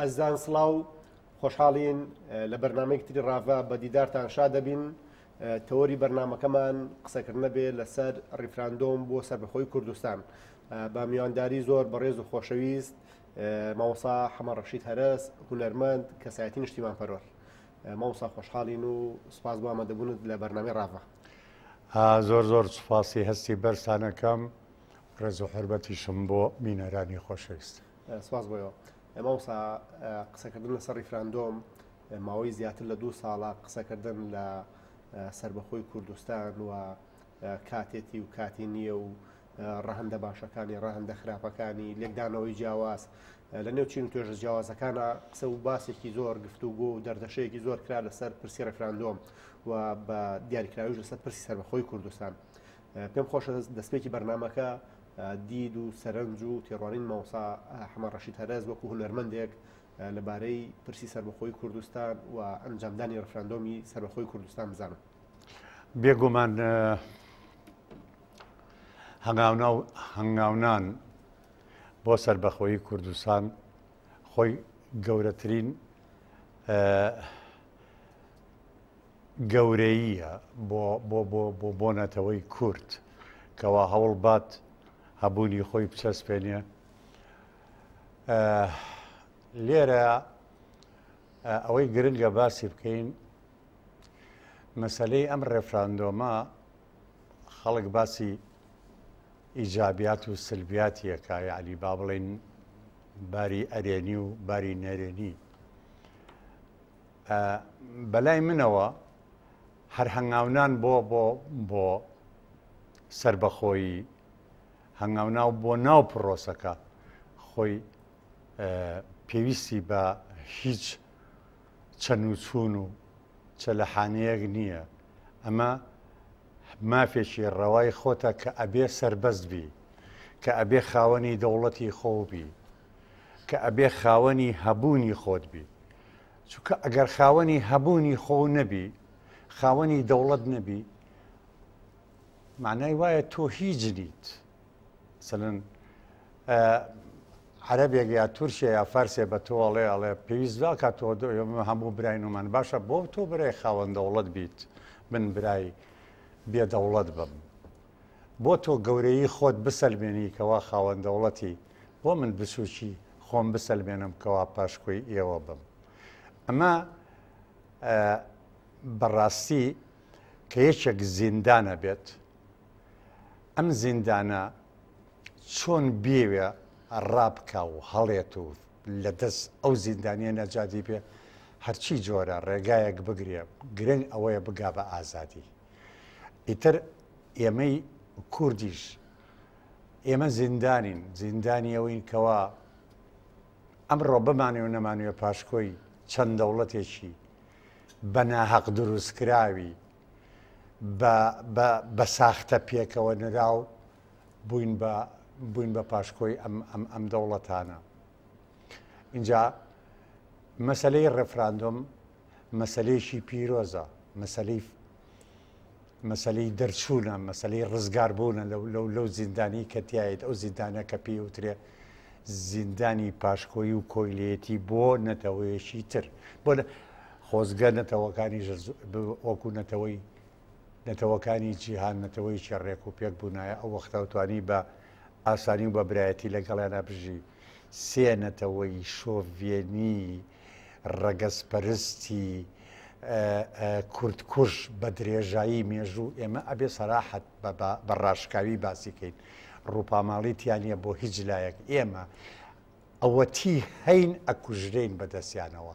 ئازیزان سڵاو خۆشحاڵین لە بەرنامەیەک تری ڕاڤە بە دیدارتان شاد دەبین تەوەری بەرنامەکەمان قسەکردنە بێ لەسەر ڕیفراندۆم بۆ سەربەخۆی کوردستان بە میوانداری زۆر بەڕێز و خۆشەویست مامۆسا حەمە ڕەشید هەرەس هونەرمەند کەسایەتی نیشتیمان پەروەر مامۆسا خۆشحاڵین و سوپاس بۆ ئامادەبوونت لە بەرنامەی ڕاڤە. زۆر زۆر سوپاسی هەستی بەرزتانەکەم ڕێز و حورمەتیشم بۆ بینەرانی خۆشەویست. سپاس بۆ ئێوە. مامۆستا قسەکردن لەسەر ڕیفراندۆم ماوەی زیاتر لە دوو ساڵە قسەکردن لە سربەخۆی کوردستان و کاتێتی و کاتی نییە و ڕەهەندە باشەکانی ڕەهەندە خراپەکانی لێکدانەوەی جیاواز لە نێو چین و توێژە جیاوازەکانە قسە و باسێکی زۆر گفتوگۆ و دەردەشەیەکی زۆر کرا لەسەر پرسی ڕفراندۆم و بە دیاریکراویش لەسەر پرسی سەربەخۆی کوردستان پێم خۆشە دەستپێکی بەرنمەکە دید و سەرنج و تێڕوانین مامۆستا حەمە ڕەشید هەرەز وەکو هونەرمەندێک لەبارەی پرسی سەربەخۆی کوردستان و ئەنجامدانی ڕفراندۆمی سەربەخۆی کوردستان بزانم. بێگومان هەنگاونان بۆ سەربەخۆیی کوردستان خۆی گەورەترین گەورەییە بۆ بۆ بۆ بۆ بۆ نەتەوەی کورد کەوا هەوڵ بات هەبوونی خۆی بچەسپێنێ لێرە ئەوەی گرنگە باسی بکەین مەسلەی ئەم ڕێفراندۆمە خەڵک باسی ئیجابیات و سلبیاتیەکە یعنی با بڵین باری ئەرێنی و باری نەرێنی بەلای منەوە هەر هەنگاونان بۆ بۆ بۆ سەربەخۆیی هەنگاوناو بۆ ناو پرۆسەکە خۆی پێویستی بە هیچ چەن و چوون و چەلەحانەیەک نییە ئەمە مافێکی ڕەوای خۆتە کە ئەبێ سربەست بی کە ئەبێ خاوەنی دەوڵەتی خۆ بی کە ئەبێ خاوەنی هەبوونی خۆت بی چونکە ئەگەر خاوەنی هەبوونی خۆ نەبی خاوەنی دەوڵەت نەبی معنای وایە تۆ هیچ نیت سەلەن عەربێک یا تورکیا یا فارسێ بە تۆ ئەڵێ ئەڵێ پێویست ناکات تۆ هەموو براینمان باشە بۆ تۆ برای خاوەن دەوڵەت بیت من برای بێ دەوڵەت بم بۆ تۆ گەورەیی خۆت بسەلمێنی کەوا خاوەن دەوڵەتی، بۆ من بچووکی خۆم بسەلمێنم کەوا پاشکۆی ئێوە بم. ئەمە بەڕاستی کە یەکێک زیندانە بێت، ئەم زیندانە چۆن بیەوێ ڕابکا و هەڵێت و لە دەست ئەو زیندانیە نەجاتی بێ، هەرچی جۆرە ڕێگایەک بگرێ، گرنگ ئەوەیە بگا بە ئازادی. ئیتر ئێمەی کوردیش ئێمە زیندانین زیندانی ئەوەین کەوا ئەمڕۆ بمانێ و نەمانوێ پاشکۆی چەند دەوڵەتێکی بە ناهەق دروستکراوی بە ساختە پێکەوە نراو بووین بە بووین بە پاشکۆی ئەم ئەم ئەم دەوڵەتانە اینجا مەسلەی ڕێفراندۆم مەسەلەیەکی پیرۆزە، مەسەلەی مەسەلەی دەرچوونە، مەسەلەی ڕزگاربوونە لەو لەو لەو زیندانی کە تیایت، ئەو زیندانە کە پێی وترێ زیندانی پاشکۆیی و کۆیلەیەتی بۆ نەتەوەیەکی تر. بۆ خۆزگە نەتەوەکانی وەکو نەتەوەی نەتەوەکانی جیهان نەتەوەیەکی ڕێک و پێک بوونایە ئەو وەختە توانی بە ئاسانی و بە برایەتی لەگەڵیانە بژی. سێ نەتەوەی شۆڤێنی ڕەگەزپەرستی کوردکوژ بە درێژایی مێژوو ئێمە ئەبێ سەراحەت بە ڕاشکاوی باسی کەین ڕووپاماڵی تیا نییە بۆ هیچ لایەک ئێمە ئەوەتی هەین ئەکوژرێین بەدەستیانەوە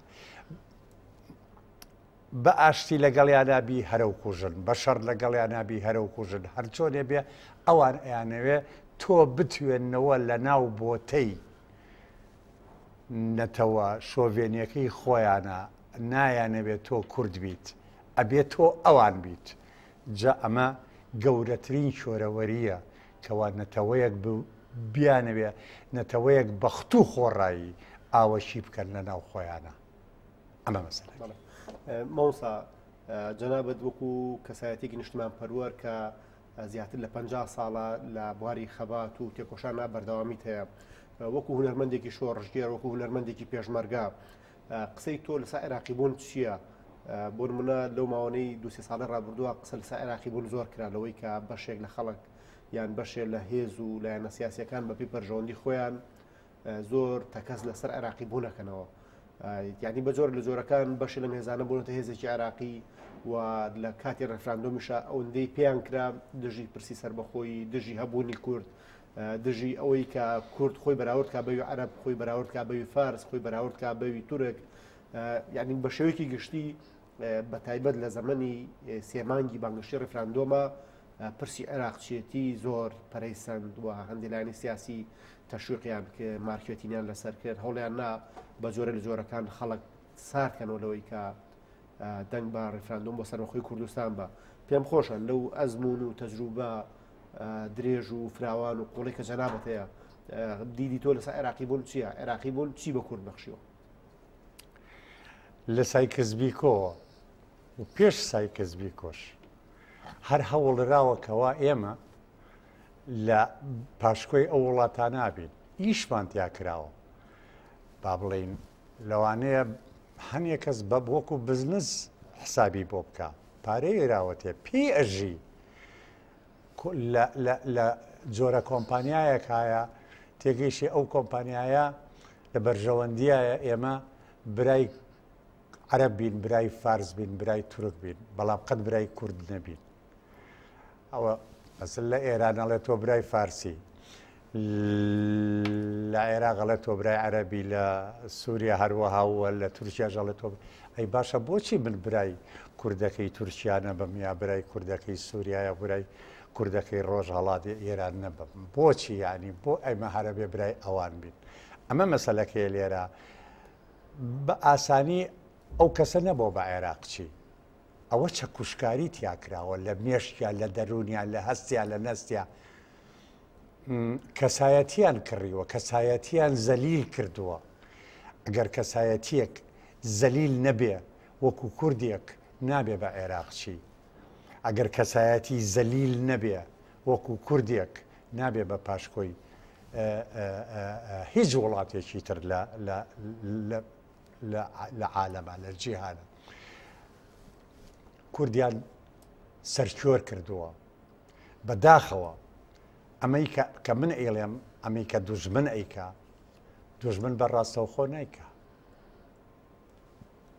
بە ئاشتی لەگەڵیانا بی هەرەو کوژن بە شەڕ لەگەڵیانا بی هەرەو کوژن هەرچۆنێ بێ ئەوان ئەیانەوێ تۆ بتوێننەوە لە ناو بۆتەی نەتەوە شۆڤێنیەکەی خۆیانە نایانەوێ تۆ کورد بیت ئەبێ تۆ ئەوان بیت جا ئەمە گەورەترین شۆرەوەریە کەوا نەتەوەیەک بیانەوێ نەتەوەیەک بەختو خۆڕایی ئاوەشی بکەن لە ناو خۆیانە ئەمە مەسەلەکە. مامۆستا جەنابت وەکو کەسایەتێکی نیشتمان پەروەر کە زیاتر لە 50 ساڵە لە بواری خەبات و تێکۆشانە بەردەوامیت هەیە. وەکو هونەرمەندێکی شۆڕشگێر وەکو هونەرمەندێکی پێشمەرگە قسەی تۆ لەسەر عێراقی بوون چییە؟ بۆ نمونە لەو ماوەی دوسێ ساڵی ڕابردووە قسە لەسەر عێراقی بوون زۆر کرا لەوەی کە بەشێک لە خەڵک یان بەشێ لە هێز و لایەنە سیاسەکان بەپی بەرژەوەندی خۆیان زۆر تەکەس لەسەر عێراقی بوونەکەنەوە یعنی بە جۆر لە جۆرەکان بەشی لەم هێزانە بوونەتە هێزێکی عێراقی و لە کاتی ڕێفراندۆمیشە ئەوەندەی پێیان کرا دژی پرسی سربەخۆیی دژی هەبوونی کورد دژی ئەوەی کە کورد خۆی بەراورد کا بەوی عەرەب خۆی بەراورد کا بەوی فارس خۆی بەراورد کا بەوی تورک یعنی بە شێوەیەکی گشتی بە تایبەت لە زەمەنی سێمانگی بانگەشەی ڕیفراندۆمە پرسی عێراقچێتی زۆر پەرەی سەند و هەندێک لایەنی سیاسی تەشویقیان کرد مارکێتینیان لەسەر کرد هەوڵیان نا بە جۆرە لە جۆرەکان خەڵک ساردکەنەوە لەوەی کە دەنگ بە ڕیفراندۆم بۆ سەربەخۆی کوردستان بە پێم خۆشە لەو ئەزمون و تەجروبە درێژ و فراوان و قوڵی کە جەنابەت هەیە دیدی تۆ لەسەر عێراقی بوون چییە عێراقی بوون چی بە کورد بەخشیوە لە سایکس-بیکۆوە و پێش سایکس-بیکۆش هەر هەوڵدراوە کەوا ئێمە لە پاشکۆی ئەو وڵاتانە بین ئیشمان تیا کراوە با بڵێین لەوانەیە هەنێ کەس بە وەکو بزنس حسابی بۆ بکە پارەی ئێراوەتێ پێی ئەژی لە جۆرە کۆمپانیایەک هایە تێگەیشی ئەو کۆمپانیایە لە بەرژەوەندیایە ئێمە برای عەرەب بین برای فارس بین برای تورک بین بەڵام قەت برای کورد نەبین ئەوە مەسەل لە ئێران ئەڵێ تۆ برای فارسی لە عێراق ئەڵێ تۆ برای عەرەبی لە سووریا هەروەها و لە تورکیاش ئەڵێ تۆ ئەی باشە بۆچی من برای کوردەکەی تورکیا نەبم یا برای کوردەکەی سووریا یا برای کوردەکەی ڕۆژهەڵاتی ئێران نەبم بۆچی یعنی بۆ ئەمە هەرەبێ برای ئەوان بین ئەمە مەسەلەکەی لێرە بە ئاسانی ئەو کەسە نەبووە بە عێراقچی ئەوە چەکوشکاری تیا کراوە لە مێشکیا لە دەروونیا لە هەستیا لە نەستیا کەسایەتیان کڕیوە کەسایەتیان زەلیل کردووە ئەگەر کەسایەتیەک زەلیل نەبێ وەکو کوردێک نابێ بە عێراقچی ئەگەر کەسایەتی زەلیل نەبێ وەکو کوردێک نابێ بە پاشکۆی هیچ وڵاتێکی تر لە لە عالەما لە جیهانە کوردیان سەرکۆر کردووە بەداخەوە ئەمەی کە من ئەیڵێم ئەمەی کە دوژمن ئەیکا دوژمن بە ڕاستەوخۆ نیکە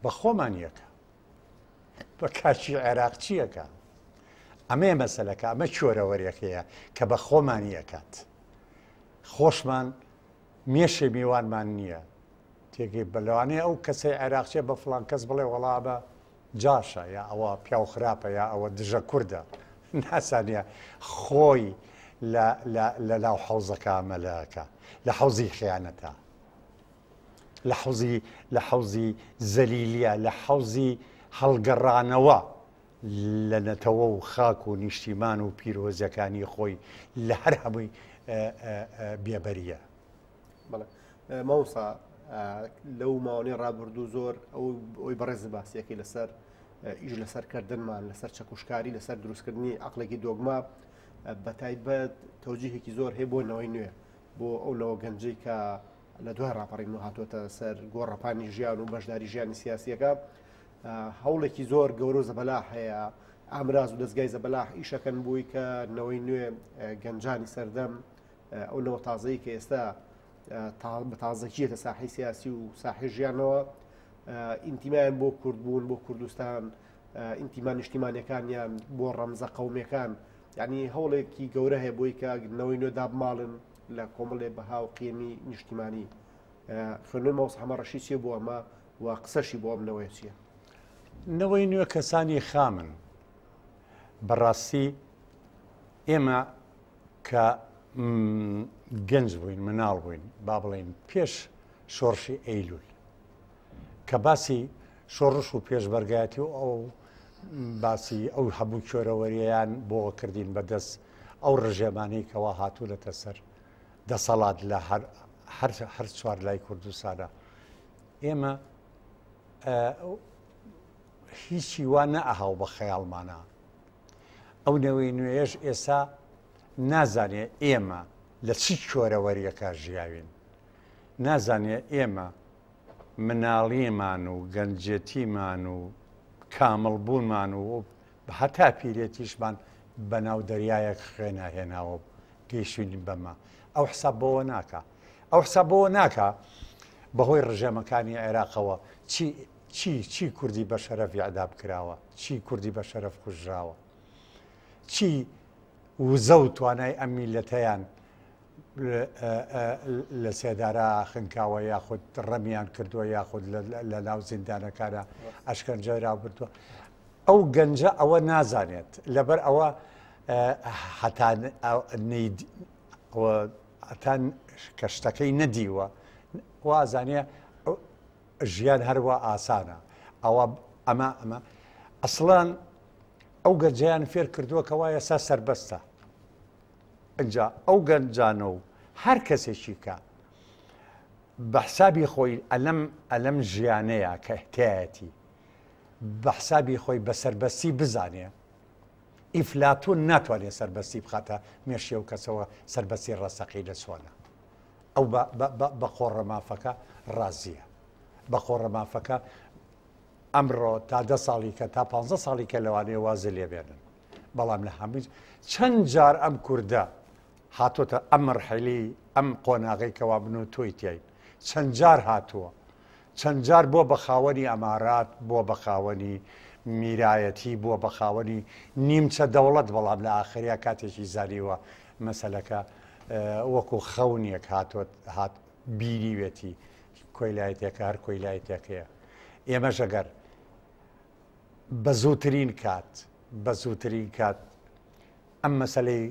بە خۆمان یەکە بە کاچی عێراقچیەکە ئەمەیە مەسەلەکە ئەمە چۆرەوەرێکەیە کە بە خۆمانی ئەکات خۆشمان مێشێ میوانمان نییە تێگەی بە لەوانەیە ئەو کەسەی عێراقچیە بە فڵان کەس بڵێ وەڵا بە جاشە یا ئەوە پیاو خراپە یا ئەوە دژە کوردە ناسانە خۆی لە ناو حەوزەکە مەلەکە لە حەوزی خیانەتە لە حەوزی لە حەوزی زەلیلیە لە حەوزی هەڵگەڕانەوە لە نەتەوە و خاک و نیشتیمان و پیرۆزیەکانی خۆی لە هەر هەمووی بێبەریە. بەڵێ مامۆستا لەو ماوەی ڕابردوو زۆر ئەوی بەڕێز باسیەکەی لەسەر ئیش لەسەر کردنمان لەسەر چەکوشکاری لەسەر دروستکردنی عقلێکی دۆگما بە تایبەت تەوجیهێکی زۆر هەیە بۆ نەوەی نوێ بۆ ئەو نەوە گەنجەی کە لە دوای ڕاپەڕین و هاتووەتە سەر گۆڕەپانی ژیان و بەشداری ژیانی سیاسیەکە هەوڵێکی زۆر گەورە و زەبەلاح هەیە ئامراز و دەستگای زەبەلاح ئیشەکەن بووی کە نەوەی نوێ گەنجانی سەردەم ئەو نەوە تازەی کە ئێستا بە تازەکیەتە ساحی سیاسی و ساحی ژیانەوە ئینتیمایان بۆ کوردبوون بۆ کوردستان ئینتیما نیشتیمانەکانیان بۆ ڕەمزە قومەکان یعنی هەوڵێکی گەورە هەیە بۆی کە نەوەی نوێ دابماڵن لە کۆمەڵێ بەها و قیمی نیشتیمانی خوێندنەوەی مامۆستا حەمە ڕەشید چییە بۆ ئەمە و قسەشی بۆ ئەم نەوەیە چییە؟ نەوەی نوێ کەسانی خامن بەڕاستی ئێمە کە گەنج بووین مناڵ بووین با بڵین پێش شۆڕشی ئەیلول کە باسی شۆڕش و پێشبەرگایەتی و ئەو باسی ئەو هەموو کۆرەوەریان بۆ کردین بەدەست ئەو ڕژێمانەی کەوا هاتوونەتە سەر دەسەڵات لە هەر چوار لای کوردستانە ئێمە هیچی وا نەئەهاو بە خەیاڵمانە ئەو نەوەی نوێیەش ئێستا نازانێ ئێمە لە چی کۆرەوەریەکە ژیاوین. نازانێ ئێمە مناڵیمان و گەنجێتیمان و کامڵ بوونمان و هەتا پیرێتیشمان بەناو دەریایەک خوێنا هێناوە و گەیشتوین بەمە. ئەو حساب بەوە ناکا. ئەو حساب بەوە ناکا بەهۆی ڕژێمەکانی عێراقەوە چی چی چی کوردی بە شەرەف ئیعدام کراوە، چی کوردی بە شەرەف کوژراوە، چی وزە و توانای ئەم میللەتەیان لە سێدارە خنکاوە یاخود ڕەمیان کردووە یاخود لە ناو زیندانەکانە ئەشکەنجە راوبردووە. ئەو گەنجە ئەوە نازانێت لەبەر ئەوە هەتا هەتا کە شتەکەی نەدیوە وازانێ ژیان هەروە ئاسانە ئەوە ئەمە ئەمە ئەسڵان ئەو گەنجیان فێر کردووە کەوا ئێستا سربەستە ئەجا ئەو گەنجانە و هەر کەسێکی کە بە حسابی خۆی ئەلەم ئەلەم ژیانەیە کە تایەتی بە حسابی خۆی بە سەربەستی بزانێ ئیفلاتون ناتوانێ سەربەستی بخاتە مێشکی ئەو کەسەوە سەربەستی ڕاستەقینە چۆنە ئەو بە قۆڕە مافەکە ڕازیە بە قۆڕە مافەکە ئەمڕۆ تا دە ساڵی کە تا پ ساڵی کە لەوانەیە وازە لێبێنن بەڵام لە هەمووی چەند جار ئەم کوردە هاتۆتە ئەم مەرحەلەی ئەم قۆناغەی کەوا من و تۆی تیاین چەند جار هاتووە چەند جار بووە بە خاوەنی ئەمارات بووە بە خاوەنی میرایەتی بووە بە خاوەنی نیمچە دەوڵەت بەڵام لە ئاخریا کاتێکی زانیوە مەسەلەکە وەکو خەونێک هاتووە هات بینیوێتی کۆیلایەتەکە هەر کۆیلایەتەکەیە ئێمەش ئەگەر بە زووترین کات بە زووترین کات ئەم مەسەلەی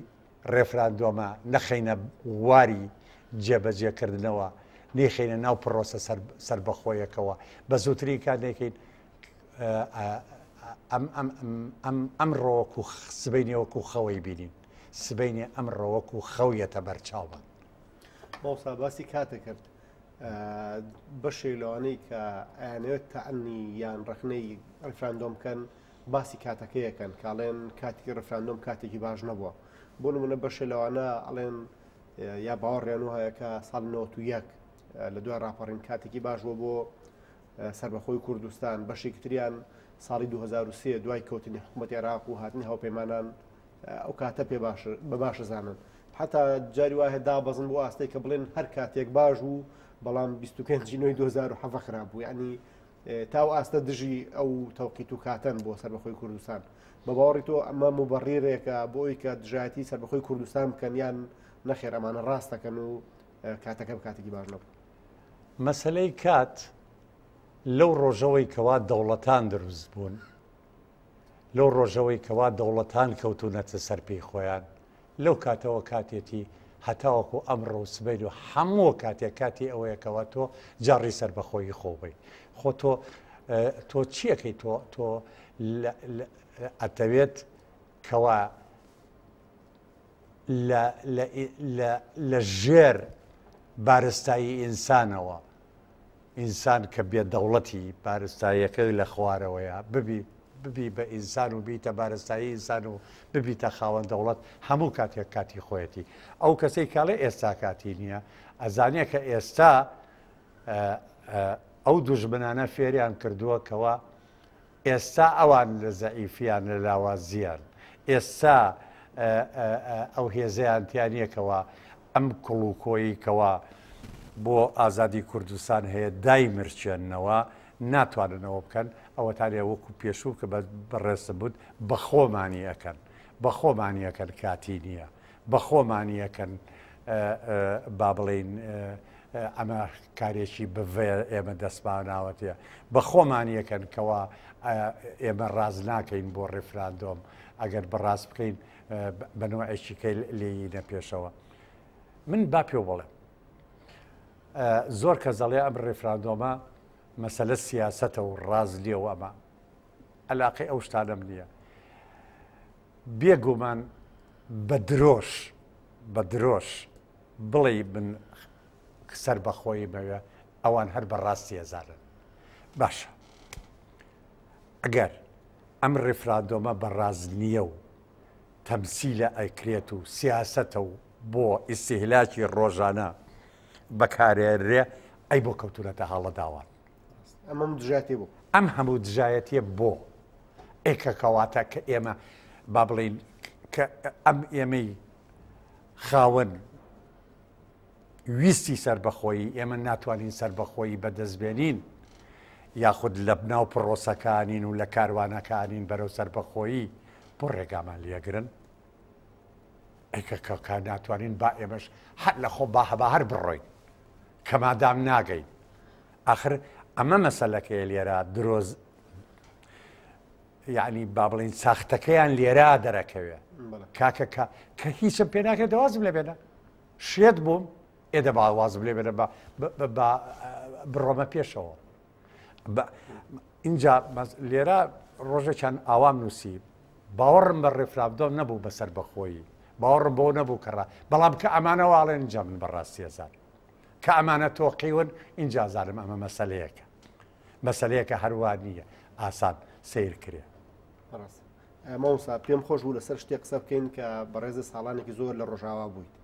ڕێفراندۆمە نەخەینە واری جێبەجێکردنەوە، نەیخەینە ناو پڕۆسە سەربەخۆیەکەوە، بە زووترین کات نەیکەین ئەمڕۆ وەکو سبەینێ وەکو خەوەی بینین، سبەینێ ئەمڕۆ وەکو خەو یەتە بەرچاومان. مامۆستا باسی کاتە کرد بەشێک لەوانەی کە ئەیانەوێت تەعنی یان ڕەخنەی ڕیفراندۆم بکەن باسی کاتەکەی ئەکەن کە ئەڵێن کاتی ڕفراندۆم کاتێکی باش نەبووە بۆ نمونە بەشێ لەوانە ئەڵێن یا باوەڕیان وایە کە ساڵ 91 لە دوای ڕاپەڕین کاتێکی باش بووە بۆ سربەخۆی کوردستان بەشێکی تریان ساڵی 2023 دوای کەوتنی حکوومەت عێراق و هاتنی هاوپەیمانان ئەو کاتە پێ باش بە باشە زانن حتا جاری وایە دابەزن بۆ ئاستێک کە بڵێن هەر کاتێک باش بوو بەڵام 25 نوێی 2007 خراپ بوو یعنی تا ئەو ئاستە دژی ئەو تەوقیت و کاتەن بۆ سەربەخۆی کوردستان. بە باوەڕی تۆ ئەمە موبەڕیرێکە بۆ ئەوی کە دژایەتی سەربەخۆی کوردستان بکەن یان نەخێر ئەمانە ڕاست دەکەن و کاتەکە بە کاتێکی باش نەبوو؟ مەسەلەی کات لەو ڕۆژەوەی کەوا دەوڵەتان دروست بوون، لەو ڕۆژەوەی کەوا دەوڵەتان کەوتوونەتە سەر پێی خۆیان، لەو کاتەوە کاتێتی هەتاوەکو ئەمڕۆ و سبەین و هەموو کاتێک کاتی ئەوەیە کەوا تۆ جاڕی سەربەخۆیی خۆ بی. خۆ تۆ تۆ چیەکەی تۆ تۆ ئەتەوێت کەوا لە لە لە ژێر بارستایی ئینسانەوە ئینسان کە بێ دەوڵەتی بارستاییەکەی لە خوارەوەیە ببی ببی بە ئینسان و بیتە بارستایی ئینسان و ببیتە خاوەن دەوڵەت هەموو کاتێک کاتی خۆیەتی ئەو کەسەی کاڵێ ئێستا کاتی نییە ئەزانێ کە ئێستا ئەو دوژمنانە فێریان کردووە کەوا ئێستا ئەوان لە زەعیفیان لە لاوازیان ئێستا ئەو هێزەیان تیا نییە کەوا ئەم کوڵ و کۆیی کەوا بۆ ئازادی کوردستان هەیە دایمرچێننەوە ناتوانن ئەوە بکەن ئەوەتانێ وەکو پێشوو کە بەڕێزتم بوت بە خۆمانی ئەکەن بە خۆمانی ئەکەن کاتی نییە بە خۆمانی ئەکەن با بڵێین ئەمە کارێکی بڤەیە ئێمە دەستماناوەتێ بە خۆمانی ئەکەن کەوا ئێمە ڕاز ناکەین بۆ ڕیفراندۆم ئەگەر بەڕاست بکەین بە نەوعێکی کەی لێینە پێشەوە من با پێ بڵێم زۆر کەس دەڵێ ئەم ڕیفراندۆمە مەسەلە سیاسەتە و ڕاز نییە و ئەمە علاقەی ئەو شتانەم نییە بێگومان بە درۆش بە درۆش بڵێی من سەربەخۆییمەوێ ئەوان هەر بە ڕاستی ئەزانن. باشە ئەگەر ئەم ڕیفراندۆمە بە ڕاست نییە و تەمسیلە ئەکرێت و سیاسەتە و بۆ ئیستیهلاکی ڕۆژانە. بەکارێنرێ ئەی بۆ کەوتونەتە هەڵە داوان؟ ئەمەم دژایەتی بۆ؟ ئەم هەموو دژایەتیە بۆ؟ ئێ کە کەواتە کە ئێمە با بڵێین کە ئەم ئێمەی خاوەن ویستی سەربەخۆیی ئێمە ناتوانین سەربەخۆیی بەدەست بێنین یاخود لە ناو پرۆسەکانین و لە کاروانەکانین بەرەو سەربەخۆیی بۆ ڕێگامان لێگرن؟ ئەی کە کە ناتوانین با ئێمەش هەر لە خۆ با هەبا هەر بڕۆین کە مادام ناگەین ئاخر ئەمە مەسەلەکەیە لێرە درۆز یعنی با بڵین ساختەکەیان لێرە دەرەکەوێ کاکە کە کە هیچم پێ ناکرێت دەوازم لێ بێنە شێت بووم ئێ دەبا وازم لێ بێنە بە بڕۆمە پێشەوە ئینجا لێرە ڕۆژێکیان ئاوام نووسی باوەڕم بە ڕێفراندۆم نەبوو بە سەربەخۆیی باوەڕم بۆ نەبوو کەڕا بەڵام کە ئەمانە واڵێن اینجا من بەڕاستی ئەزانم کە ئەمانە تۆقیون اینجا زانم ئەمە مەسەلەیەکە مەسەلەیەکە هەروە نییە ئاسان سیر کرێ. ڕاست مامۆستا پێم خۆش بوو لەسەر شتێک قسە بکەین کە بەڕێزە ساڵانێکی زۆر لە ڕۆژاوا بوویت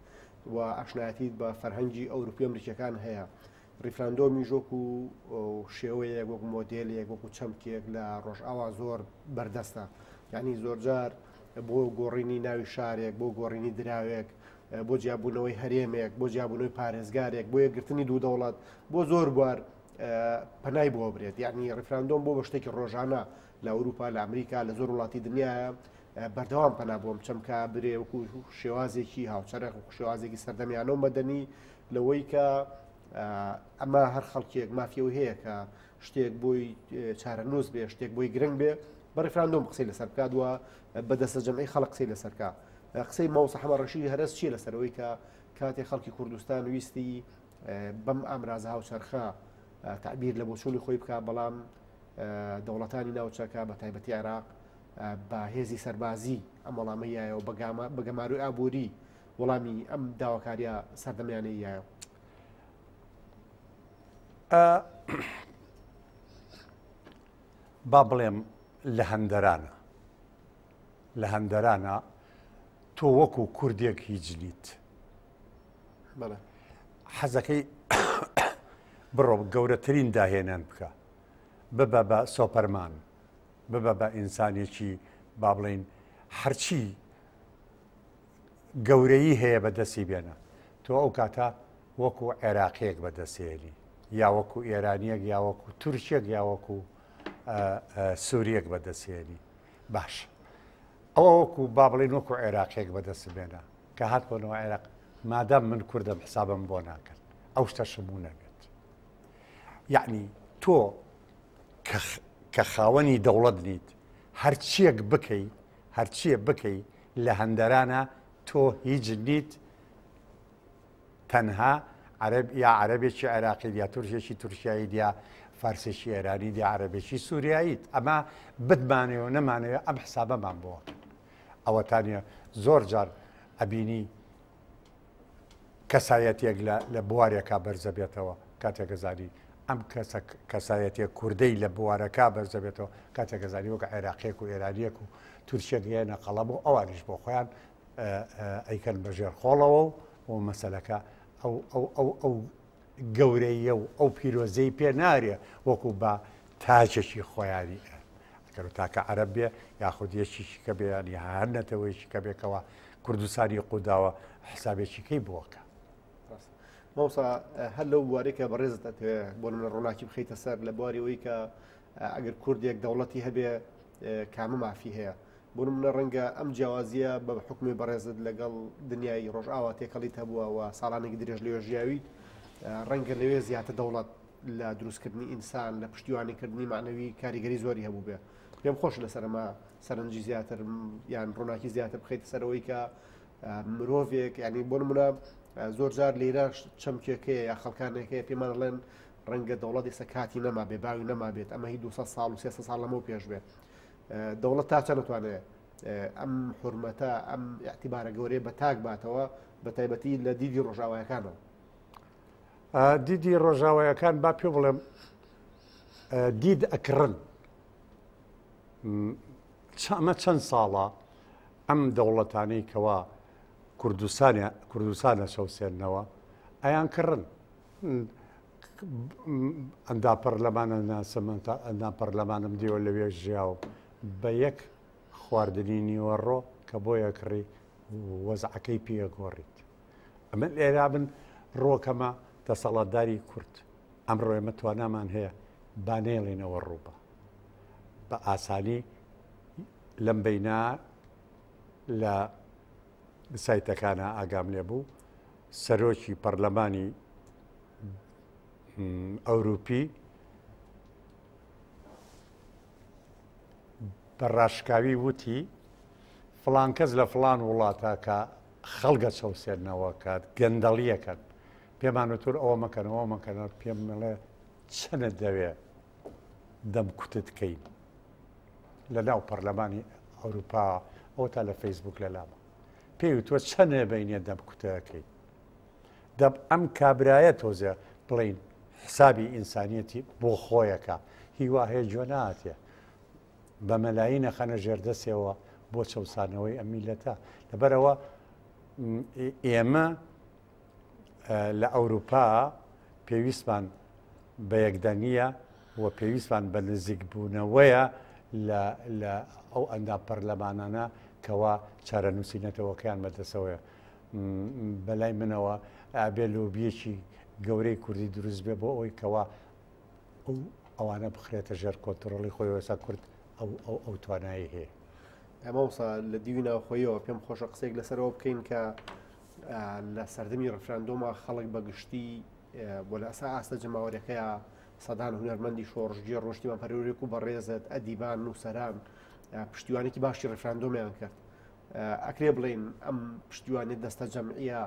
و ئاشنایەتیت بە فەرهەنگی ئەوروپی ئەمریکیەکان هەیە ڕیفراندۆمیش وەکو شێوەیەک وەکو مۆدێلێک وەکو چەمکێک لە ڕۆژئاوا زۆر بەردەستە یعنی زۆرجار بۆ گۆڕینی ناوی شارێک بۆ گۆڕینی دراوێک بۆ جیابوونەوەی هەرێمێک بۆ جیابوونەوەی پارێزگارێک بۆ یەکگرتنی دوو دەوڵەت بۆ زۆر بوار پەنای بۆ برێت یعنی ڕیفراندۆم بۆ بە شتێکی ڕۆژانە لە ئەوروپا لە ئەمریکا لە زۆر وڵاتی دنیاە بەردەوام پەنا بۆم چەمکە برێ وەکو شێوازێکی هاوچەرخ و شێوازێکی سەردەمیانە و مەدەنی لەوەی کە ئەمە هەر خەڵکێک مافیەوە هەیە کە شتێک بۆی چارەنووس بێ شتێک بۆی گرنگ بێ بە ڕیفراندۆم قسەی لەسەر بکات و بە دەستە جەمعی خەڵک قسەی لەسەرکە قسەی ماوسە حەمە ڕەشیدی هەرەس چییە لەسەرەوەی کە کاتێک خەڵکی کوردستان ویستی بەم ئامرازە هاوچەرخە تعبیر لە بۆچوونی خۆی بکە بەڵام دەوڵەتانی ناوچەکە بە تایبەتی عێراق بە هێزی سەربازی ئەم وەڵامە یایەوە بە گەمارۆی ئابووری وەڵامی ئەم داواکاریە سەردەمیانەی یایەوە. با بڵێم لە هەندەرانە لە هەندەرانە تۆ وەکو کوردێک هیچ نیت حەزەکەی بڕۆ گەورەترین داهێنان بکە ببە بە سۆپەرمان ببە بە ئینسانێکی با بڵین هەرچی گەورەیی هەیە بەدەستی بێنە تۆ ئەو کاتە وەکو عێراقیەک بەدەستێنی یا وەکو ئێرانیەک یا وەکو تورکێک یا وەکو سووریەک بەدەستێنی باش ئەوە وەکو با بڵین وەکو عێراقیەک بەدەست بێنە کە هات بۆنەوە عێراق مادام من کوردم حسابم بۆ ناکەن ئەو شتە شموو نەبێت یعنی تۆ کە خاوەنی دەوڵەت نیت هەرچیەک بکەی هەرچیە بکەی لە هەندەرانە تۆ هیچ نیت تەنها عەرەب یا عەرەبێکی عێراقیت یا تورکێکی تورکیاییت یا فارسێکی ئێرانیت یا عەرەبێکی سووریاییت ئەمە بتمانەوە و نەمانەوە ئەم حسابەمان بۆ ئەوەتانە زۆر جار ئەبینی کەسایەتێک لە بوارێکا بەرزەبێتەوە کاتێک ئەزانی ئەم کەسە کەسایەتێک کوردەی لە بوارەکە بەرزەبێتەوە کاتێک ئەزانی وەک عێراقیەک و ئێرانیەک و تورکیەک هێنە قەڵەم و ئەوانیش بۆ خۆیان ئەیکەن بە ژێر خۆڵەوە و و مەسەلەکە ئەو ئەو ئەو ئەو گەورەیە و ئەو پیرۆزەی پێ نارێ وەکو بە تاکێکی خۆیانی ئەگەر تاکە عەرەب بێ یاخود یەکێکی کە بێ یانی هەر نەتەوەیەکی کە بێکەوە کوردستانی قوداوە حسابێکی کەی بۆکە. مامۆستا هەر لەو بوارەی کە بەڕێزت ئەتەوێ بۆ نمونە ڕووناکی بخەیتە سەر لە بواری ئەوەی کە ئەگەر کوردێک دەوڵەتی هەبێ کامە مافی هەیە بۆ نمونە ڕەنگە ئەم جیاوازیە بە حکومی بەڕێزت لەگەڵ دنیای ڕۆژئاوا تێکەڵیت هەبووە و ساڵانێکی درێژ لەوێ ژیاویت ڕەنگە لەوێ زیاتر دەوڵەت لە دروستکردنی ئینسان لە پشتیوانیکردنی معنەوی کاریگەری زۆری هەبوو بێ پێم خۆش لەسەر ئەمە سەرنجی زیاتر یان ڕووناکی زیاتر بخەیتە سەرەوەی کە مرۆڤێک ینی بۆ نمونە زۆر جار لێرە چەمکێکەیە یا خەڵکانێکەیە پێمان ڵێن ڕەنگە دەوڵەت ئێستا کاتی نەما بێ باوی نەما بێت ئەمە هی 200 ساڵ و 300 ساڵ لەمەو پێش بێت دەوڵەت تا چەند نتوانێت ئەم حرمەتە ئەم اعتیبارە گەورەیە بە تاک باتەوە بە تایبەتی لە دیدی ڕۆژاوایەکانەوە دیدی ڕۆژاوایەکان با پێ بڵێم دید ئەکڕن ئەمە چەند ساڵە ئەم دەوڵەتانەی کەوا کوردستانە کوردستانە چەوسێنەوە ئەیان کڕن. ئەندام پەرلەمانە ناسم، ئەندام پەرلەمانم دیوە لەوێ ژیاوم، بە یەک خواردنی نیوەڕۆ کە بۆ یەکڕی وەزعەکەی پێگۆڕیت. ئەمن ئێرا بن ڕۆکەمە دەسەڵاتداری کورد ئەمڕۆ ئێمە توانامان هەیە با نەیڵینەوە ڕووبە بە ئاسانی لەم بەینا لە سایتەکانە ئاگام لێ بوو سەرۆکی پەرلەمانی ئەوروپی بە ڕاشکاوی وتی فڵان کەس لە فڵان وڵاتە کە خەڵگە چەوسێنەوە کە گەندەڵیەکەن پێمان وتور ئەوە مەکەن ئەوە مەکەنەوە پێم مەڵێ چەنت دەوێ دەم کوتت کەین لە ناو پەرلەمانی ئەوروپا ئەوە تا لە فەیسبوک لە لامە پێی وتوە چەنێ بینێ دەم کوتەکەی دەب ئەم کابرایە تۆزێ بڵین حسابی ئینسانیەتی بۆ خۆیەکە هیوا هەیە گوێ ناتێ بە مەلایی نەخەنە ژێردەسێەوە بۆ چەوسانەوەی ئەم میلەتە لەبەرەوە ئێمە لە ئەوروپا پێویستمان بە یەکدەنگییە و پێویستمان بە نزیکبوونەوەیە لە لە ئەو ئەندام پەرلەمانانە کەوا چارەنووسی نەتەوەکەیان بەدەسەوەیە. بەلای منەوە ئەبێ لۆبییەکی گەورەی کوردی دروست بێ بۆ ئەوەی کەوا ئەو ئەوانە بخرێتە ژێر کۆنترۆڵی خۆی ئێستا کورد ئەو ئەو ئەو توانایی هەیە. مامۆستا لە دیوی ناوخۆیەوە پێم خۆشە قسەیەک لەسەرەوە بکەین کە لە سەردەمی ڕفراندۆما خەڵک بە گشتی بۆ لە ئەسا ئاستە جەماوەرەکەیە سەدان هونەرمەندی شۆڕشگێڕ ڕۆشتیمان پەرورێک و بەڕێزت ئەدیبان نووسەران پشتیوانێکی باشی ڕفراندۆمیان کرد ئەکرێ بڵین ئەم پشتیوانی دەستە جەمعە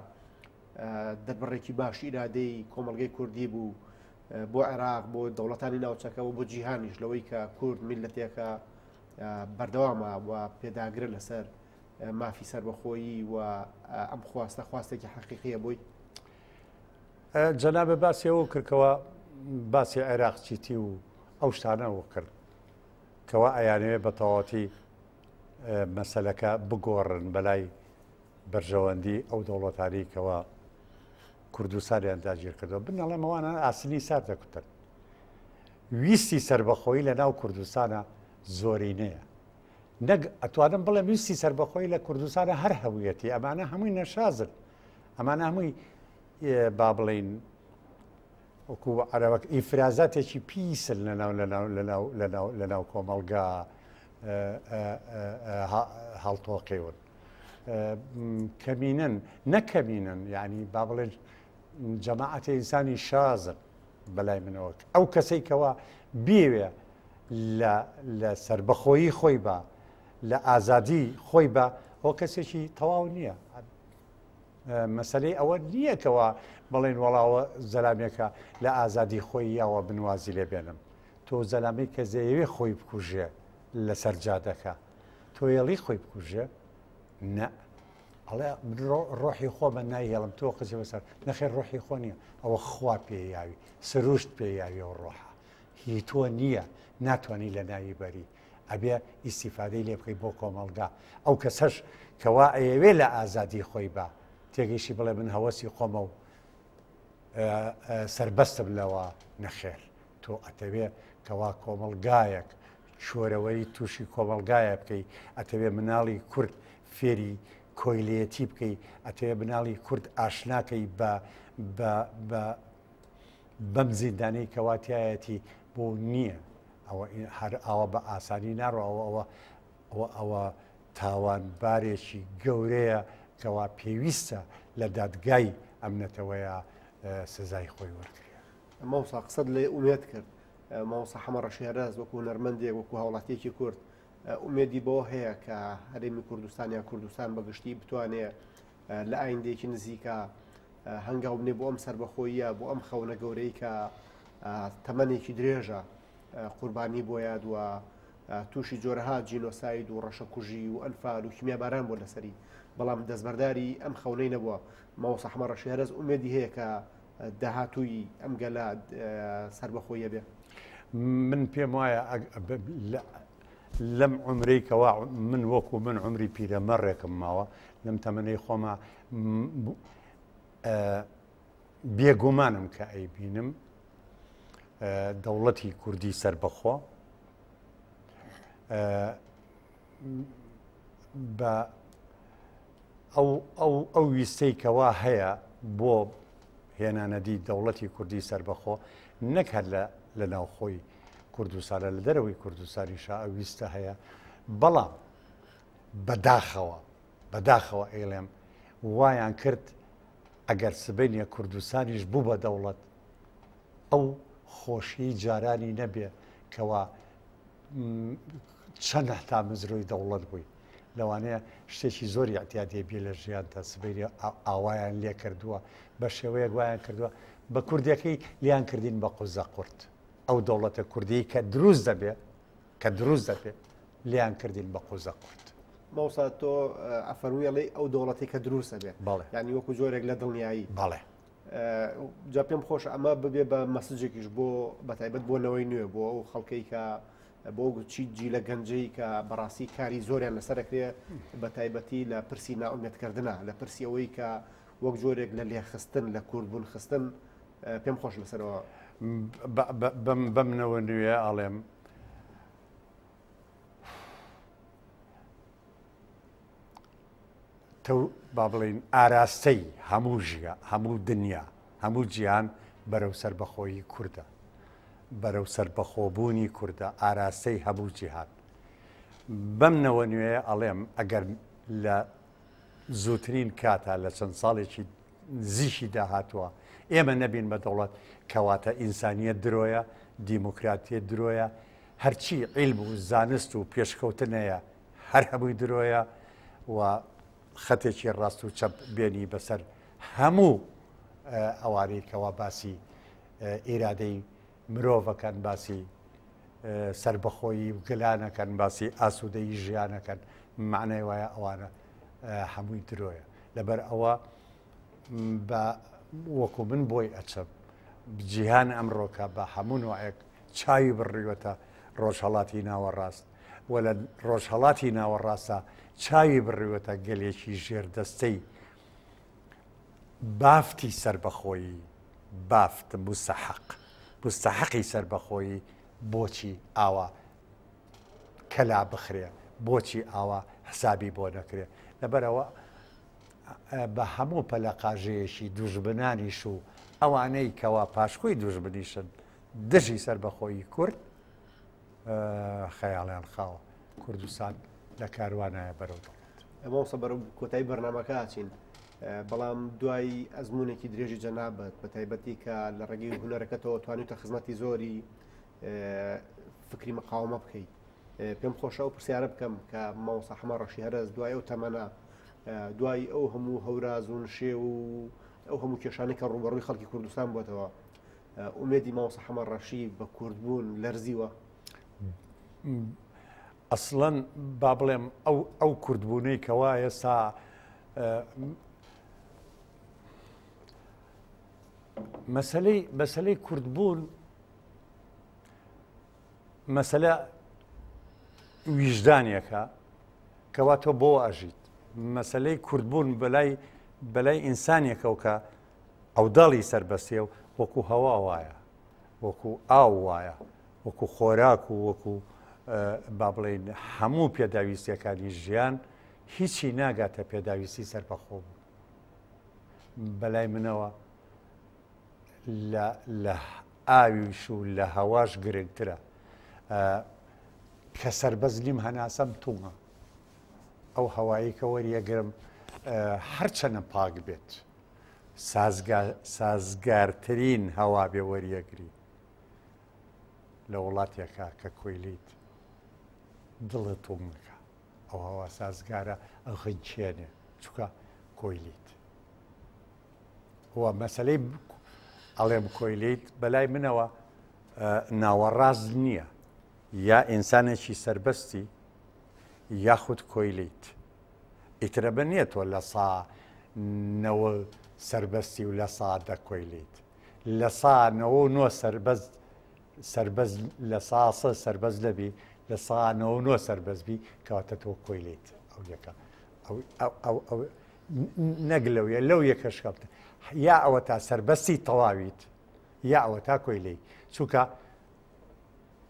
دەربڕێکی باش ئیرادەی کۆمەلگەی کوردی بوو بۆ عێراق بۆ دەوڵەتانی ناوچەکە و بۆ جیهانیش لەوەی کە کورد میلەتێکە بەردەوامە و پێداگرە لەسەر مافی سەربەخۆیی و ئەم خواستە خواستێکی حەقیقیە بۆی؟ جەنابت باسی ئەوە کرد کەوا باسی عێراق چیتی و ئەو شتانە کرد کەوا ئەیانەوێ بە تەواوەتی مەسەلەکە بگۆڕن بەلای بەرژەوەندی ئەو دەوڵەتانی کەوا کوردستانیان داگیر کردەوە بنەڵێم ئەوانە ئاسنی سار دەکوتن ویستی سربەخۆیی لە ناو کوردستانە زۆرینەیە نەک ئەتوانم بڵێم ویستی سەربەخۆی لە کوردستانە هەر هەبوویەتی ئەمانە هەمووی نەشازن ئەمانە هەمووی با بڵین وەکو عەرەبەک ئیفرازاتێکی پیسن لەناو لەناو لەناو لەناو لەناو کۆمەڵگا هەڵتۆقیون کەمینن نەکەمینن یعنی با بڵێن جەماعەتی ئینسانی شازن بەلای منەوە ئەو کەسەی کەوا بیەوێ لە لە سەربەخۆیی خۆی بە لە ئازادی خۆی بە ئەو کەسێکی تەواو نییە مەسلەی ئەوە نییە کەوا بڵێن وەڵاوە زەلامێکە لە ئازادی خۆی یاوە بنوازی لێ بێنم تۆ زەلامی کە زەیەوێ خۆی بکوژێ لەسەر جادەکە تۆیەڵی خۆی بکوژێ نە ئەڵێ من ڕۆحی خۆمە نایهێڵم تۆ قزی بەسەر نەخێر ڕۆحی خۆ نییە ئەوە خوا پێ یاوی سروشت پێ یاوی ئەو ڕۆحە هی تۆ نییە ناتوانانی لە ناوی بەری ئەبێ ئیسیفادەی لێ بکەی بۆ کۆمەڵگا ئەو کەسەش کەوا ئەیەوێ لە ئازادی خۆی بە تێگەیشی بڵێ من هەوەسی خۆمە و سربەستم لەوە نەخێر تۆ ئەتەوێ کەوا کۆمەڵگایەک چۆرەوەی تووشی کۆمەڵگایە بکەی ئەتەوێ مناڵی کورد فێری کۆیلەتی بکەی ئەتەوێ مناڵی کورد ئاشناکەی بە بە بە بەم زیندانەی کەوا تایەتی بۆ نییە ئەوە هەر ئاوا بە ئاسانی ناڕۆ ئەوە ئەوە ئەوە ئەوە تاوانبارێکی گەورەیە کەوا پێویستە لە دادگای ئەم نەتەوەیە سزای خۆی وەرگێ. مامۆستا قسەت لە ئومێد کرد مامۆستا حەمە ڕەشی هەرەس وەکو هونەرمەندێک وەکو هاوڵاتیەکی کورد ئومێدی بەوە هەیە کە هەرێمی کوردستان یا کوردستان بەگشتی بتوانێ لە ئایندێکی نزیکە هەنگاو بنێ بۆ ئەم سربەخۆییە بۆ ئەم خەونە گەورەی کە تەمەنێکی درێژە قوربانی بۆ یاد و تووشی جۆرەها جینۆساید و ڕەشەکوژی و ئەنفال و کیمیاباران بۆ لەسەری بەڵام دەستبەرداری ئەم خەونەی نەبووە مامۆستا حەمە ڕەشی هەرەس ئومێدی هەیە کە داهاتووی ئەم گەلە سەربەخۆیە بێ؟ من پێم وایە لەم عمرەی کەوا من وەکو من عمری پیرەمەڕێکم ماوە لەم تەمەنەی خۆما بێگومانم کە ئەیبینم دەوڵەتی کوردی سەربەخۆ بە ئەو ئەو ئەو ویستەی کەوا هەیە بۆ هێنانەدی دەوڵەتی کوردی سەربەخۆ نەک هەر لە لە ناوخۆی کوردستانە لە دەرەوەی کوردستانیشا ئەو ویستە هەیە بەڵام بەداخەوە بەداخەوە ئەیڵێم وایان کرد ئەگەر سبەینێ کوردستانیش بوو بە دەوڵەت ئەو خۆشیی جارانی نەبێ کەوا چەند تامەزرۆی دەوڵەت بووی لەوانەیە شتێکی زۆری ئەعتیادیە بێ لە ژیانتا سبەینێ ئاوایان لێ کردووە بە شێوەیەک وایان کردووە بە کوردەکەی لیان کردین بە قوزە قورت ئەو دەوڵەتە کوردی کە دروست دەبێ کە دروست دەبێ لیان کردین بە قوزە قورت. مامۆستا تۆ ئەفەرمووی ئەڵێی ئەو دەوڵەتی کە دروست ئەبێ بەڵێ یعنی وەکو جۆرێک لە دڵنیایی بەڵێ جا پێم خۆش ئەمە ببێ بە مەسجێکیش بۆ بەتایبەت بۆ نەوەی نوێ بۆ ئەو خەڵکەی کە بۆ چی جی لە گەنجەی کە بەڕاستی کاری زۆریان لەسەرەکرێ بە تایبەتی لە پرسی ناومێتکردنا لە پرسی ئەوەی کە وەک جۆرێک لە لێخستن لە کوردبوون خستن پێم خۆش لەسەرەوە بەم نەوە نوێ ئەڵێم تەو با بڵێین ئاراستەی هەموو ژیا هەموو دنیا هەموو جیهان بەرەو سەربەخۆیی کوردە بەرەو سەربەخۆبوونی کوردە ئاراستەی هەموو جیهان بەم نەوە نوێیە ئەڵێم ئەگەر لە زووترین کاتا لە چەند ساڵێکی نزیکی داهاتووە ئێمە نەبین بە دەوڵەت کەواتە ئینسانیەت درۆیە دیموکراتیەت درۆیە هەرچی عیلم و زانست و پێشکەوتنەیە هەر هەمووی درۆیە و خەتێکی ڕاست و چەپ بێنی بەسەر هەموو ئەوانەی کەوا باسی ئیرادەی مرۆڤەکەن باسی سربەخۆیی و گەلانەکەن باسی ئاسوودەی ژیانەکەن معنای وایە ئەوانە هەمووی درۆیە لەبەر ئەوە بە وەکو من بۆی ئەچم جیهان ئەمڕۆکە بە هەموو نوعێک چاوی بڕیوەتە ڕۆژهەڵاتی ناوەڕاست و لە ڕۆژهەڵاتی ناوەڕاستە چاوی بڕیوەتە گەلێکی ژێردەستەی بافتی سەربەخۆیی بافت مستحق مستحقی سەربەخۆیی بۆچی ئاوا کەلا بخرێ بۆچی ئاوا حسابی بۆ نەکرێ لەبەرەوە بە هەموو پەلەقاژەیەکی دوژمنانیش و ئەوانەی کەوا پاشکۆی دوژمنیشن دژی سەربەخۆیی کورد خەیاڵیان خاوە کوردستان لە کاروانایە بەرەو دەوڵەت. مامۆستا بەرەو کۆتایی بەرنامەکە ئەچین بەڵام دوای ئەزمونێکی درێژی جەنابت بە تایبەتی کە لە ڕێگەی هونەرەکەتەوە توانیوتە خزمەتی زۆری فکری مقاومە بکەیت پێم خۆشە ئەو پرسیارە بکەم کە مامۆستا حەمە ڕەشی هەرەس دوای ئەو تەمەنە دوای ئەو هەموو هەوراز و نشێو و ئەو هەموو کێشانەی کە ڕووبەڕووی خەڵکی کوردستان بووەتەوە ئومێدی مامۆستا حەمە ڕەشی بە کوردبوون لەرزیوە؟ ئەسڵەن با بڵێم ئەو ئەو کوردبوونەی کەوا ئێستا مەسلەی مەسلەی کوردبوون مەسەلە ویژدانێکە کەوا تۆ بۆ ئەژیت مەسلەی کوردبوون بەلای بەلای ئینسانێکەوە کە عەوداڵی سەربەستیە و وەکو هەوا وایە، وەکو ئاو وایە، وەکو خۆراک و وەکو با بڵێین هەموو پێداویستیەکانی ژیان هیچی ناگاتە پێداویستی سەربەخۆ بوون. بەلای منەوە لە لە ئاویش و لە هەواش گرنگترە. کە سەربەست نیم هەناسەم تومە. ئەو هەوایەی کە وەریەگرم هەرچەنە پاک بێت سازگارترین هەوا بێ وەریەگری لە وڵاتێکا کە کۆیلیت دڵت تومەکە ئەو هەوا سازگارە ئەخنچێنێ چکە کۆیلیت و مەسلەی ئەڵێم کۆیلیت بەلای منەوە ناوەڕاست نییە یا ئینسانێکی سربەستی یاخود کۆیلەیت ئیتر ئەمە نییە تۆ لە سا نەوە سەربەستی و لە سا دە کۆیلەیت لە سا نەوە و نۆ سەربەست سەربەست لە سا سە سەربەست نەبی لە سا نەوە و نۆ سەربەست بی کەواتە تۆ کۆیلەیت ئەو یەکە ئەو ئەو ئەو ئەو نەک لەو یە لەو یەکەش کەمتر. یا ئەوە تا سەربەستی تەواویت یا ئەوە تا کۆیلەی چونکە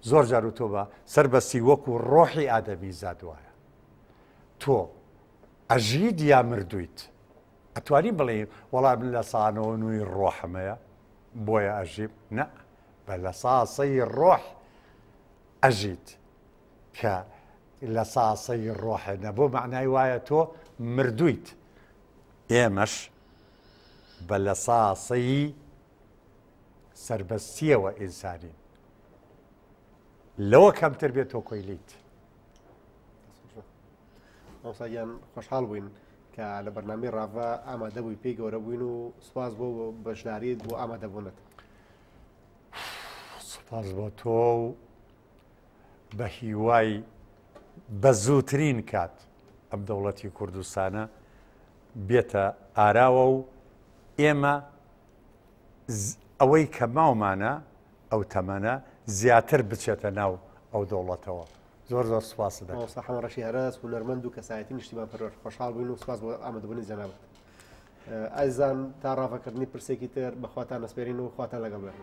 زۆر جار و تۆ بە سەربەستی وەکو ڕۆحی ئادەمی زاد وایە تۆ ئەژیت یا مردوویت ئەتوانی بڵێ وەڵا من لە سانەوە نووی ڕۆحمەیە بۆیە ئەژیم نە بە لە ساسەی ڕۆح ئەژیت کە لە ساسەی ڕۆحە نەبوو معنای وایە تۆ مردوویت ئێمەش بە لە ساسەی سەربەستیەوە ئینسانین لەوە کەمتر بێت تۆ کۆیلیت. مامۆستا گیان خۆشحاڵ بووین کە لە بەرنامەی ڕاڤە ئامادە بووی پێی گەورە بووین و سوپاس بۆ بەشداریت بۆ ئامادەبوونت. سوپاس بۆ تۆ و بە هیوای بە زووترین کات ئەم دەوڵەتی کوردستانە بێتە ئاراوە و ئێمە ئەوەی کە ماومانە ئەو تەمەنە زیاتر بچێتە ناو ئەو دەوڵەتەوە زۆر زۆر سوپاست دەکەم. مامۆستا حەمە ڕەشی هەرەس هونەرمەند و کەسایەتی نیشتیمانپەروەر خۆشحاڵ بووین و سوپاس بۆ ئامادەبوونی جەنابت. ئازیزان تا ڕاڤەکردنی پرسێکی تر بە خواتان ئەسپێرین و خواتان لەگەڵ بێت.